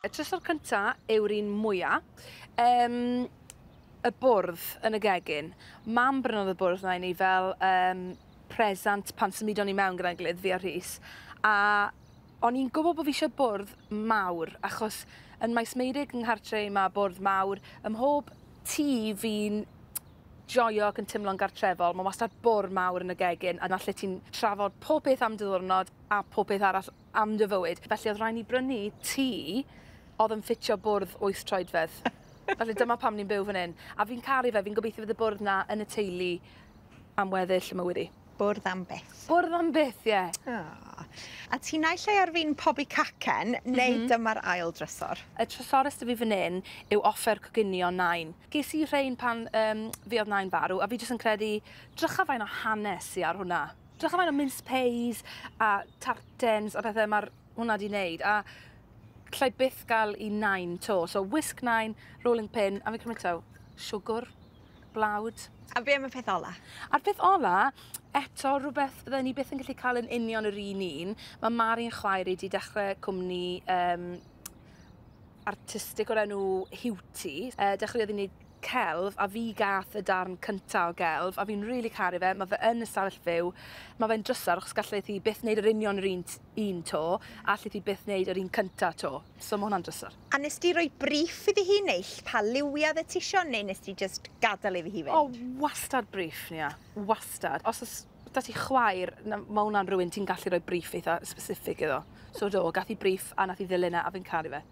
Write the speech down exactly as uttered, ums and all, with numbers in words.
Y trysor cynta yw'r un mwya. Um, y bwrdd yn y gegin. Mam brynodd y bwrdd 'na i ni fel um, presant pan symudon ni mewn gyda'n gilydd, fi a Rhys. A o'n i'n gwybod bod fi eisiau bwrdd mawr, achos yn Maes Meirig yng nghartre mae bwrdd mawr. Ym mhob tŷ fi'n joio ac yn teimlo'n gartrefol, mae wastad bwrdd mawr yn y gegin, a 'na lle ti'n trafod pob peth am dy ddiwrnod a pob peth arall am dy fywyd. Felly oedd rhaid ni brynu tŷ oedd yn ffitio bwrdd wyth troedfedd. Felly dyma pam ni'n byw fan hyn. A fi'n caru fe, fi'n gobeithio fydd y bwrdd 'na yn y teulu am weddill y mywyd i. Bwrdd am byth. Bwrdd am byth, ie. Yeah. Oh. A ti naill ai ar fin pobi cacen, neu mm -hmm. dyma'r ail drysor? Y trysorus 'da fi fan hyn yw offer coginio nain. Ges i rhain pan um, fi oedd nain farw, a fi jyst yn credu, drycha fain o hanes i ar hwnna. Drycha fain o mince pies a tartens a pethau mae'r hwnna 'di wneud. A allai byth gael i nain 'to. So whisk nain, rolling pin, a fi'n cymryd taw, siwgr, blawd. A be am y peth ola? A'r peth ola, eto rhywbeth fydden ni byth yn gallu cael yn union yr un un. Mae Mari'n chwaer i wedi dechrau cwmni um, artistig o'r enw Hiwti. Uh, dechreuodd i wneud celf, a fi gath y darn cynta o gelf, a fi'n rili really caru fe. Mae fe yn y stafell fyw. Mae fe'n drysor, achos gallai hi byth wneud yr union yr un, un 'to, a allai hi byth wneud yr un cynta 'to. So mae hwnna'n drysor. A nes di roi briff iddi hi neu pa liwiau ti isio, neu nes di just gadael iddi hi fynd? O, wastad briff, Nia. Wastad. Os oes 'da ti chwaer, mae hwnna'n rhywun ti'n gallu rhoi briff eitha specific iddo. So do, gath i briff a nath i ddilyn e a fi'n caru fe.